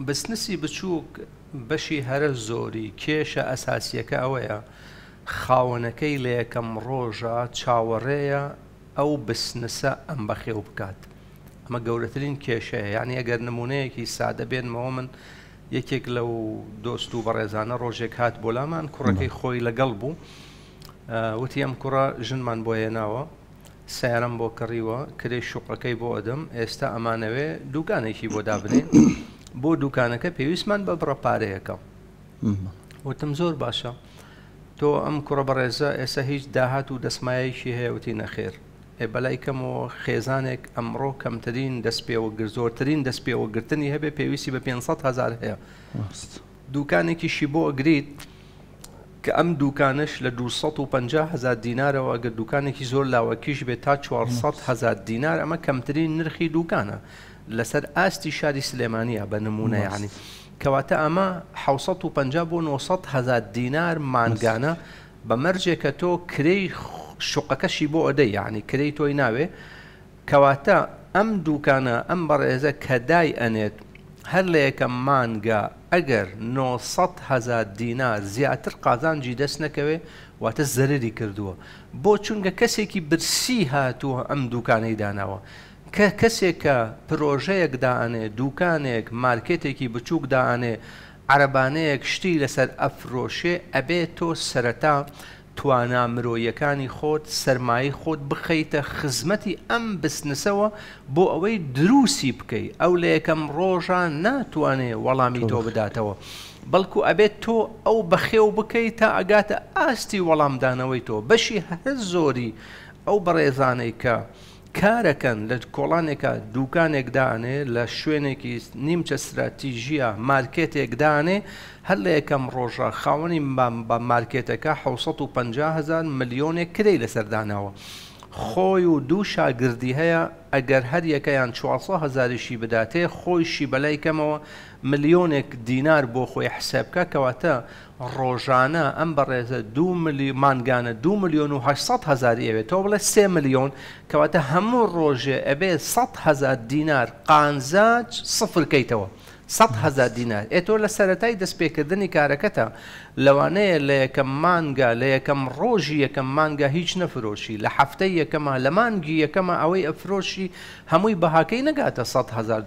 بسنسی بچووک بەشی هەرە زۆری کێشە ئەساسیەکە ئەوەیە خاوەنەکەی لە یەکەم ڕۆژا چاوەڕێیە ئەو بسنسە ئەم بەخێو بکات. ئەمە گەورەترین کێشەیە. یانی ئەگەر نمونەیەکی سادە بێنمەوە من یەکێک لەو دۆست و بەڕێزانە ڕۆژێک هات بۆ لامان کوڕەکەی خۆی لەگەڵ بوو وتی ئەم کوڕە ژنمان بۆ هێناوە سەیارەم بۆ کڕیوە کرێی شوقەکەی بۆ ئەدەم ئێستا ئەمانەوێ دوکانێکی بۆ دابنێین بۆ دوکانەکە پێویستمان بە بڕە پارەیەکە وتم زۆر باشە تۆ ئەم کوڕە بەڕێزە ئێستا هیچ داهات و دەسمایەکی هەیە وتی نەخێر ئێ بەلای کەمەوە خێزانێک ئەمڕۆ کەمترین دەست پێوەگر زۆرترین دەست پێوەگرتنی هەبێ پێویستی بە 500 هزار هەیە دوکانێکیشی بۆ ئەگریت کە ئەم دوکانەش لە 250 هزار دینارەوە ئەگەر دوکانێکی زۆر لاوەکیش بێت تا 400 هزار دینار ئەمە کەمترین نرخی دوکانە لەسەر ئاستی شاری سلێمانیە بە نمونە یعنی کەواتە ئەمە 650 بۆ 900 هزار دینار مانگانە بە مەرجێک کە تۆ کرێی شوقەکەشی بۆ ئەدەی یعنی کرێی تۆی ناوێ کەواتە ئەم دوکانە ئەم بەڕێزە کە دای ئەنێت هەر لە یەکەم مانگا ئەگەر 900 هەزار دینار زیاتر قازانجی دەست نەکەوێ واتە زەرەری کردووە بۆ چونکە کەسێکی برسی هاتووە ئەم دوکانەی داناوە کە کەسێک کە پرۆژەیەک دائەنێ دوکانێک مارکێتێکی بچوک دائەنێ عەرەبانەیەک شتی لەسەر ئەفرۆشێ ئەبێ تۆ سەرەتا توانا مرۆییەکانی خۆت سەرمایەی خۆت بخەیتە خزمەتی ئەم بسنسەوە بۆ ئەوەی دروسی بکەی ئەو لە یەکەم ڕۆژا ناتوانێ وەڵامی تۆ بداتەوە بەڵکو ئەبێت تۆ ئەو بەخێو بکەی تا ئەگاتە ئاستی وەڵامدانەوەی تۆ بەشی هەرە زۆری ئەو بەڕێزانەی کە کارەکەن لە کۆڵانێکا دوکانێک دانێ لە شوێنێکی نیمچە ستراتیژیە مارکێتێک دانێ هەر لە یەکەم ڕۆژا خاوەنی بە مارکێتەکە 750 هەزار ملیۆنێک کرێی لەسەر داناوە خۆی و دوو شاگردی هەیە ئەگەر هەر یەکەیان 400 هەزاریشی بداتێ خۆیشی بەلای کەمەوە ملیۆنێک دینار بۆ خۆی حسێب بکا کەواتە ڕۆژانە ئەم بەڕێزە دوو ملیۆن مانگانە دوو ملیۆن و 800 هەزاری ئەوێ تۆ بڵێ سێ ملیۆن کەواتە هەموو ڕۆژێ ئەبێ 100 هەزار دینار قانزاج سفر کەیتەوە 100 هەزار دینار ئێ تۆ لە سەرەتای دەستپێکردنی کارەکەتە لەوانەیە لە یەکەم مانگا لە یەکەم ڕۆژی یەکەم مانگا هیچ نەفرۆشی لە هەفتەی یەکەما لە مانگی یەکەما ئەوەی ئەفرۆشی هەمووی بەهاکەی نەگاتە 100 هەزار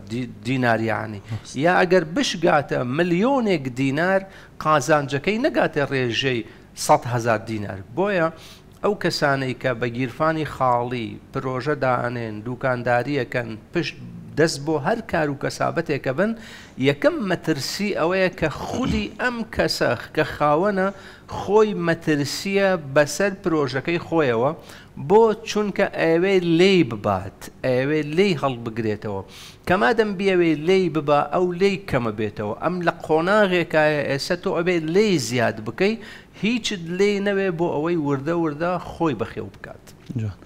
دینار یەعنی یا ئەگەر بشگاتە ملیۆنێک دینار قازانجەکەی نەگاتە ڕێژەی 100 هەزار دینار. بۆیە ئەو کەسانەی کە بە گیرفانی خاڵی پرۆژە دائەنێن، دوکاندارییەکەن، پشت دەست بۆ هەر کار و کەسابەتێکە بن، یەکەم مەترسی ئەوەیە کە خودی ئەم کەسە کە خاوەنە خۆی مەترسییە بەسەر پرۆژەکەی خۆیەوە، بۆ؟ چونکە ئەیەوێ لێی ببات، ئەیەوێ لێی هەڵبگرێتەوە. کە مادەم بیەوێ لێی ببا ئەو لێی کەمەبێتەوە. ئەم لە قۆناغێکایە ئێستا تۆ ئەبێ لێی زیاد بکەی، هیچت لێی نەوێ بۆ ئەوەی وردە وردە خۆی بەخێو بکات. جوان.